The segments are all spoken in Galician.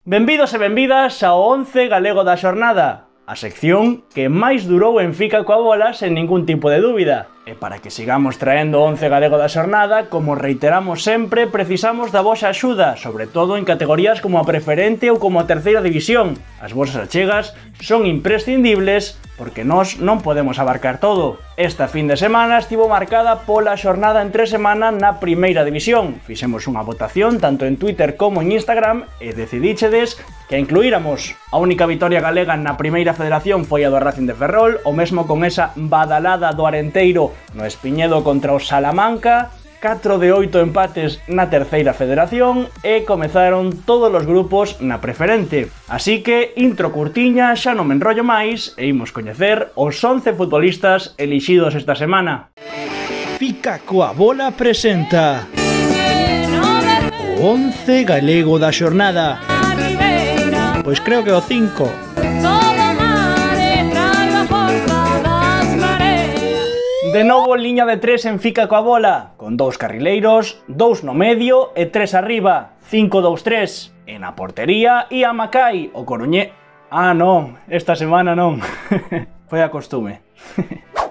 Benvidos e benvidas ao 11 galego da xornada, a sección que máis durou en Fica coa bola sen ningún tipo de dúbida. E para que sigamos traendo o 11 galego da xornada, como reiteramos sempre, precisamos da vosa axuda, sobre todo en categorías como a preferente ou como a terceira división. As vosas achegas son imprescindibles porque nós non podemos abarcar todo. Esta fin de semana estivo marcada pola xornada entre semana na primeira división. Fixemos unha votación tanto en Twitter como en Instagram e decidíchedes que a incluíramos. A única vitoria galega na primeira federación foi a do Racing de Ferrol, o mesmo con esa badalada do Arenteiro no Espiñedo contra o Salamanca, 4 de 8 empates na terceira federación e comezaron todos os grupos na preferente. Así que, intro curtiña, xa non me enrollo máis e imos coñecer os 11 futbolistas elixidos esta semana. Fica coa bola presenta o 11 galego da xornada. Pois creo que o 5. De novo liña de 3 en Fica coa bola, con 2 carrileiros, 2 no medio e 3 arriba, 5-2-3. E na portería ia Macai, o coruñé... Ah, non, esta semana non. Foi a costume.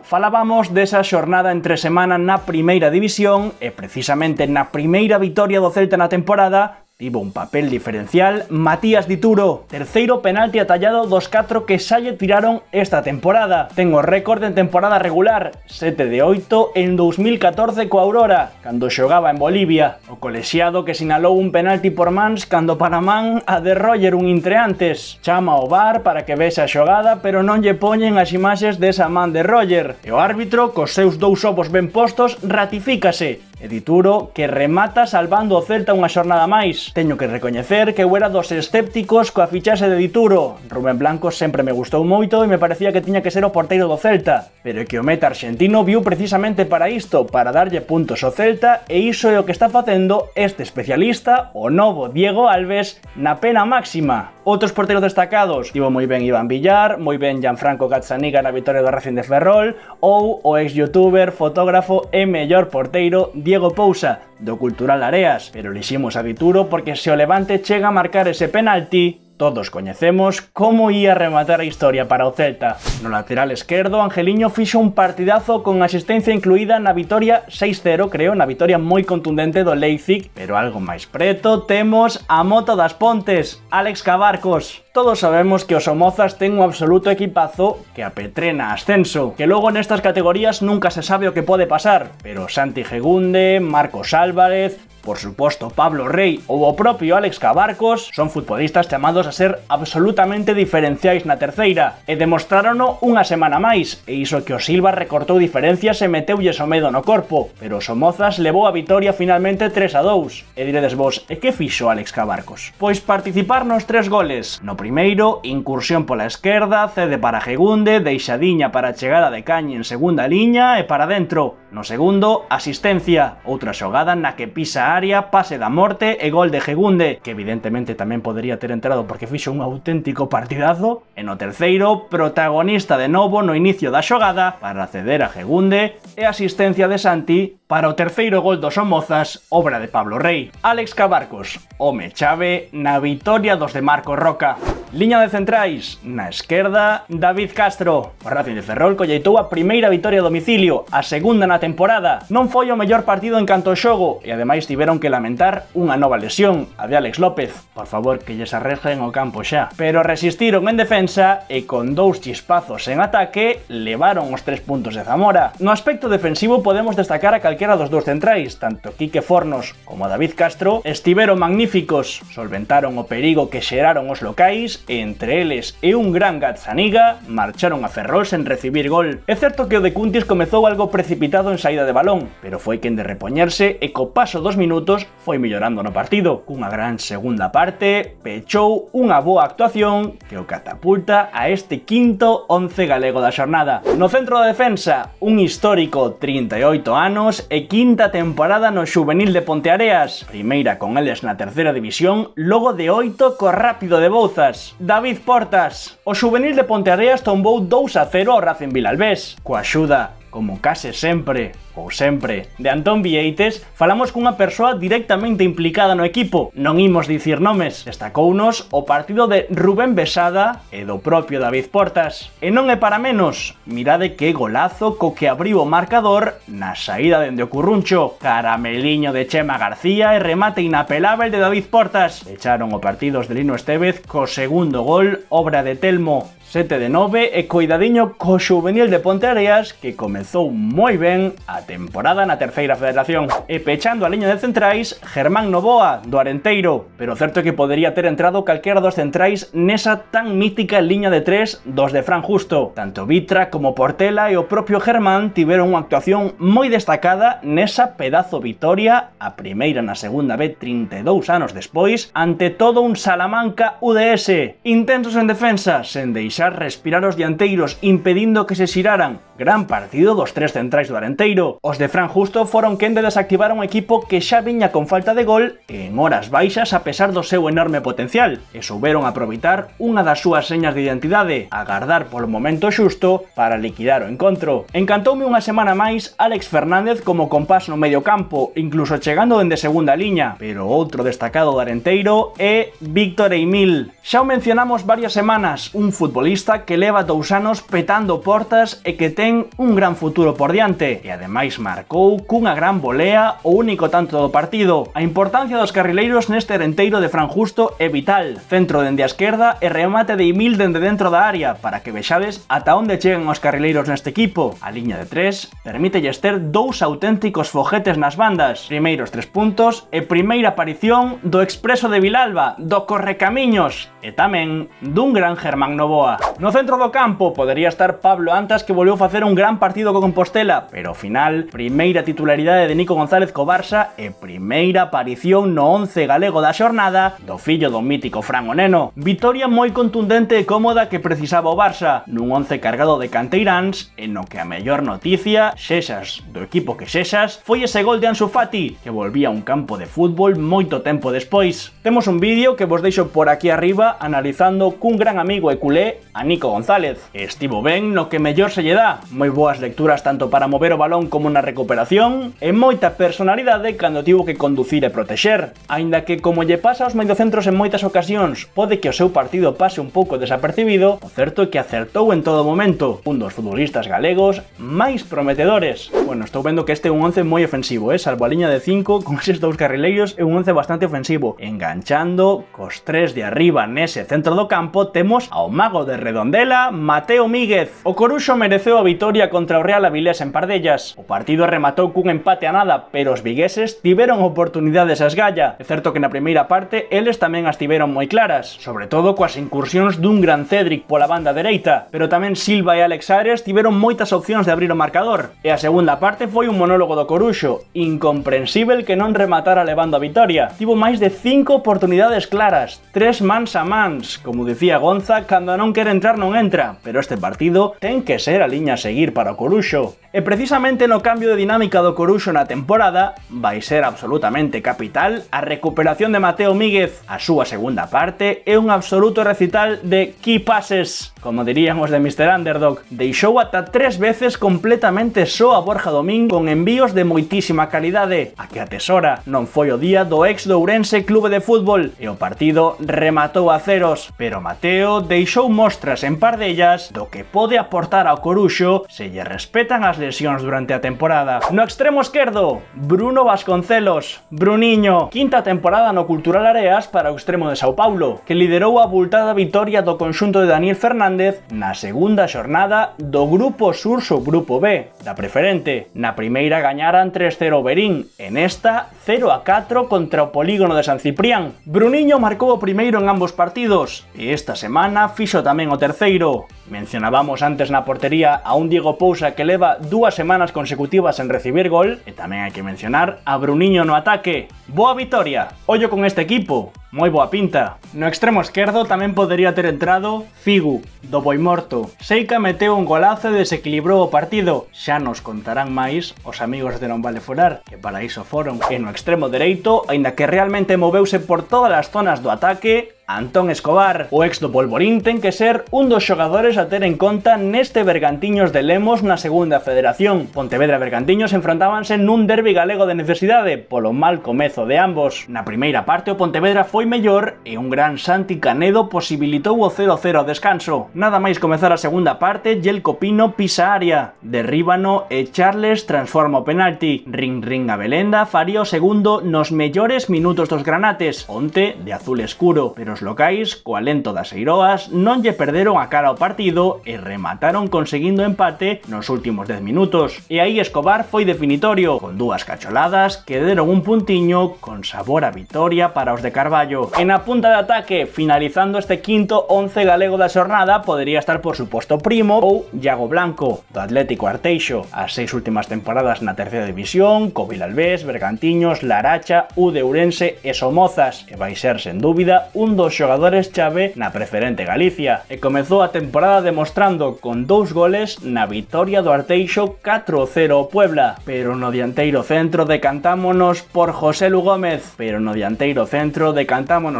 Falábamos desa xornada entre semana na primeira división e precisamente na primeira vitoria do Celta na temporada tivo un papel diferencial Matías Dituro, terceiro penalti atallado dos 4 que xa lle tiraron esta temporada. Ten o récord en temporada regular, 7 de 8 en 2014 coa Aurora, cando xogaba en Bolivia. O colexiado que sinalou un penalti por mans cando para man a de Roger un intre antes. Chama ao VAR para que vexa a xogada, pero non lle poñen as imaxes desa man de Roger. E o árbitro, cos seus dous ovos ben postos, ratifícase. E Dituro que remata salvando o Celta unha xornada máis. Teño que recoñecer que eu era dos escépticos coa fichaxe de Dituro. Rubén Blanco sempre me gustou moito e me parecía que tiña que ser o porteiro do Celta. Pero é que o meta argentino viu precisamente para isto, para darlle puntos ao Celta, e iso é o que está facendo este especialista, o novo Diego Alves, na pena máxima. Outros porteiros destacados, tivo moi ben Iván Villar, moi ben Gianfranco Gazzaniga na vitoria do Racing de Ferrol, ou o ex-youtuber, fotógrafo e mellor porteiro Diego Pousa, do Cultural Areas, pero eliximos a Dituro porque se o Levante chega a marcar ese penalti, todos coñecemos como ia rematar a historia para o Celta. No lateral esquerdo, Angeliño fixo un partidazo con asistencia incluída na vitoria 6-0, creo, na vitoria moi contundente do Leipzig, pero algo máis preto temos a moto das Pontes, Álex Cabarcos. Todos sabemos que os Somozas ten un absoluto equipazo que apetrena ascenso, que logo nestas categorías nunca se sabe o que pode pasar, pero Santi Gegunde, Marcos Álvarez, por suposto Pablo Rey ou o propio Álex Cabarcos son futbolistas chamados a ser absolutamente diferenciais na terceira e demostrárono unha semana máis, e iso que o Silva recortou diferencias e meteulles o medo no corpo, pero o Somozas levou a vitoria finalmente 3-2. E diredes vos, e que fixo Álex Cabarcos? Pois participar nos 3 goles. No primeiro, incursión pola esquerda, cede para Gegunde, deixadiña para a chegada de Cañi en segunda liña e para dentro. No segundo, asistencia, outra xogada na que pisa a área, pase da morte e gol de Gegunde, que evidentemente tamén podería ter entrado porque fixo un auténtico partidazo. E no terceiro, protagonista de novo no inicio da xogada para ceder a Gegunde e asistencia de Santi para o terceiro gol dos Somozas, obra de Pablo Rey. Álex Cabarcos, home chave na vitoria dos de Marcos Roca. Liña de centrais, na esquerda, David Castro. O Racing de Ferrol colleitou a primeira vitoria a domicilio, a segunda na temporada. Non foi o mellor partido en canto ao xogo e ademais tiveron que lamentar unha nova lesión, a de Alex López. Por favor, que lles arreglen o campo xa. Pero resistiron en defensa e con 2 chispazos en ataque levaron os 3 puntos de Zamora. No aspecto defensivo podemos destacar a calquera dos 2 centrais, tanto Quique Fornos como David Castro estiveron magníficos, solventaron o perigo que xeraron os locais e entre eles e un gran Gazzaniga marcharon a Ferrol sen recibir gol. É certo que o de Cuntis comezou algo precipitado en saída de balón, pero foi quen de repoñerse e co paso dos minutos foi mellorando no partido. Cunha gran segunda parte, pechou unha boa actuación que o catapulta a este quinto 11 galego da xornada. No centro da defensa, un histórico 38 anos e quinta temporada no xuvenil de Ponteareas, primeira con eles na terceira división, logo de 8 co Rápido de Bouzas. David Portas, o xuvenil de Ponteareas tombou 2-0 ao Racing Vilalbés, coa axuda como case sempre, ou sempre, de Antón Vieites, falamos cunha persoa directamente implicada no equipo. Non imos dicir nomes, destacounos o partido de Rubén Besada e do propio David Portas. E non é para menos, mirade que golazo co que abriu o marcador na saída dende o Curruncho, carameliño de Chema García e remate inapelável de David Portas. Echaron o partido os de Lino Estévez co segundo gol, obra de Telmo. 7 de 9 e coidadiño co xuvenil de Ponteareas que comezou moi ben a temporada na terceira federación. E pechando a liña de centrais, Germán Novoa, do Arenteiro, pero certo é que podería ter entrado calquera dos centrais nesa tan mítica liña de 3 dos de Fran Justo. Tanto Vitra como Portela e o propio Germán tiveron unha actuación moi destacada nesa pedazo vitoria, a primeira na segunda B 32 anos despois, ante todo un Salamanca UDS. Intensos en defensa, sen deixar respirar os dianteiros, impedindo que se xiraran. Gran partido dos tres centrais do Arenteiro. Os de Fran Justo foron quen de desactivar un equipo que xa viña con falta de gol e en horas baixas a pesar do seu enorme potencial, e souberon aproveitar unha das súas señas de identidade, agardar polo momento xusto para liquidar o encontro. Encantoume unha semana máis Alex Fernández como compás no medio campo, incluso chegando dende segunda liña, pero outro destacado do Arenteiro é Víctor Eimil. Xa o mencionamos varias semanas, un futbolista que leva 2 anos petando portas e que ten un gran futuro por diante, e ademais marcou cunha gran volea o único tanto do partido. A importancia dos carrileiros neste Arenteiro de Fran Justo é vital, centro dende a esquerda e remate de Eimil dende dentro da área, para que vexades ata onde chegan os carrileiros neste equipo. A liña de 3 permítelles ter 2 auténticos foguetes nas bandas, primeiros 3 puntos e primeira aparición do expreso de Vilalba, do correcamiños, e tamén dun gran Germán Novoa. No centro do campo podería estar Pablo Antas, que volveu facer un gran partido co Compostela, pero ao final, primeira titularidade de Nico González co Barça e primeira aparición no 11 galego da xornada do fillo do mítico Fran o Neno. Vitoria moi contundente e cómoda que precisaba o Barça, nun 11 cargado de canteiráns, e no que a mellor noticia, xexas do equipo que xexas, foi ese gol de Ansu Fati, que volvía a un campo de fútbol moito tempo despois. Temos un vídeo que vos deixo por aquí arriba analizando cun gran amigo e culé a Nico González. Estivo ben no que mellor se lle dá, moi boas lecturas tanto para mover o balón como na recuperación, e moita personalidade cando tivo que conducir e protexer. Aínda que, como lle pasa aos mediocentros en moitas ocasións, pode que o seu partido pase un pouco desapercibido, o certo é que acertou en todo momento, un dos futbolistas galegos máis prometedores. Bueno, estou vendo que este é un 11 moi ofensivo, salvo a liña de 5, con eses 2 carrileiros é un 11 bastante ofensivo. Enganchando cos 3 de arriba nese centro do campo temos ao mago de Redondela, Mateo Míguez. O Coruxo mereceu a vitoria contra o Real Avilés en Pardellas. O partido rematou cun empate a nada, pero os vigueses tiveron oportunidades a esgalla. É certo que na primeira parte eles tamén as tiveron moi claras, sobre todo coas incursións dun gran Cédric pola banda dereita, pero tamén Silva e Alex Ares tiveron moitas opcións de abrir o marcador. E a segunda parte foi un monólogo do Coruxo, incomprensível que non rematara levando a vitoria. Tivo máis de 5 oportunidades claras, 3 mans a mans, como dicía Gonza, cando non quere entrar non entra, pero este partido ten que ser a liña a seguir para o Coruxo. E precisamente no cambio de dinámica do Coruxo na temporada vai ser absolutamente capital a recuperación de Mateo Míguez. A súa segunda parte é un absoluto recital de key passes, como dirían os de Mr. Underdog. Deixou ata 3 veces completamente só a Borja Domín con envíos de moitísima calidade, a que atesora. Non foi o día do ex do Ourense Clube de Fútbol e o partido rematou a ceros, pero Mateo deixou mostras en Pardellas do que pode aportar ao Coruxo se lle respetan as lesións durante a temporada. No extremo esquerdo, Bruno Vasconcelos, Bruniño, quinta temporada no Cultural Areas para o extremo de Sao Paulo, que liderou a abultada vitoria do conxunto de Daniel Fernández na segunda xornada do Grupo Sur Subgrupo B, da Preferente. Na primeira gañaran 3-0 Berín, e nesta 0-4 contra o Polígono de San Ciprián. Bruniño marcou o primeiro en ambos partidos, e esta semana fixo tamén o terceiro. Mencionábamos antes na portería a un Diego Pousa que leva 2 semanas consecutivas en recibir gol, e tamén hai que mencionar a Bruniño no ataque. Boa vitoria, ollo con este equipo, moi boa pinta. No extremo esquerdo tamén podería ter entrado Figu, do Boimorto. Seica meteu un golazo e desequilibrou o partido, xa nos contarán máis os amigos de Non Vale Forar, que para iso foron. E no extremo dereito, aínda que realmente moveuse por todas as zonas do ataque, Antón Escobar, o ex do Polvorín, ten que ser un dos xogadores factores a ter en conta neste Bergantiños de Lemos na segunda federación. Pontevedra e Bergantiños enfrontábanse nun derbi galego de necesidade polo mal comezo de ambos. Na primeira parte o Pontevedra foi mellor e un gran Santi Canedo posibilitou o 0-0 ao descanso. Nada máis comezar a segunda parte, Yelko Pino pisa área, derríbano e Charles transforma o penalti. Ring a Belenda faría o segundo nos mellores minutos dos granates, onte de azul escuro, pero os locais, co alento das Eiroas, non lle perderon a cara ao partido e remataron conseguindo empate nos últimos 10 minutos. E aí Escobar foi definitorio, con dúas cacholadas que deron un puntiño con sabor a vitoria para os de Carballo. En a punta de ataque, finalizando este quinto 11 galego da xornada, podería estar por suposto Primo ou Iago Blanco, do Atlético Arteixo. As 6 últimas temporadas na terceira división, co Vilalbés, Bergantiños, Laracha, U de Ourense e Somozas, e vai ser, sen dúbida, un dos xogadores chave na preferente Galicia, e comezou a temporada demostrando con 2 goles na vitoria do Arteixo 4-0 ao Puebla, pero no dianteiro centro decantámonos por Joselu Gómez,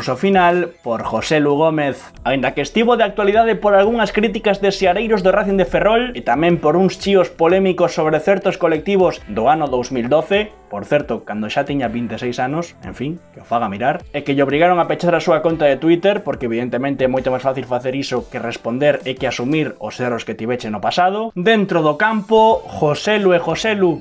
ao final por Joselu Gómez. Aínda que estivo de actualidade por algunhas críticas de seareiros do Racing de Ferrol e tamén por uns chíos polémicos sobre certos colectivos do ano 2012, por certo, cando xa tiña 26 anos, en fin, que o faga mirar, e que lle obrigaron a pechar a súa conta de Twitter, porque evidentemente é moito máis fácil facer iso que responder e que asumir os erros que tiveche no pasado. Dentro do campo, Joselu,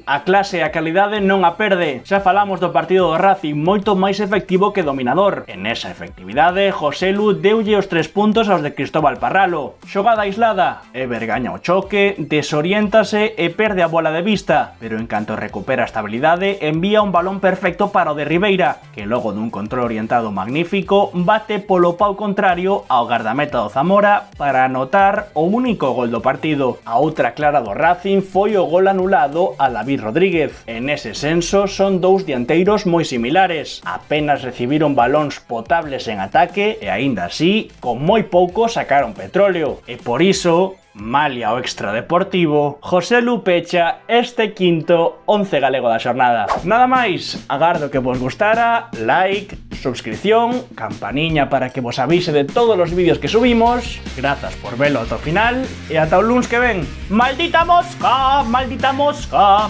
a clase e a calidade non a perde. Xa falamos do partido do Racing, moito máis efectivo que dominador. En esa efectividade, Joselu deulle os 3 puntos aos de Cristóbal Parralo. Xogada aislada, Eber gaña o choque, desoriéntase e perde a bola de vista, pero en canto recupera a estabilidade, envía un balón perfecto para o de Ribeira, que logo dun control orientado magnífico, bate polo pau contrario ao gardameta do Zamora para anotar o único gol do partido. A outra clara do Racing foi o gol anulado a David Rodríguez. En ese senso son dous dianteiros moi similares, apenas recibiron balóns potables en ataque e aínda así, con moi pouco sacaron petróleo. E por iso, malia o extradeportivo, Joselu pecha este quinto 11 galego da xornada. Nada máis, agardo que vos gustara, like, suscripción, campaniña para que vos avise de todos os vídeos que subimos. Grazas por velo ata o final e ata o luns que ven. ¡Maldita mosca! ¡Maldita mosca!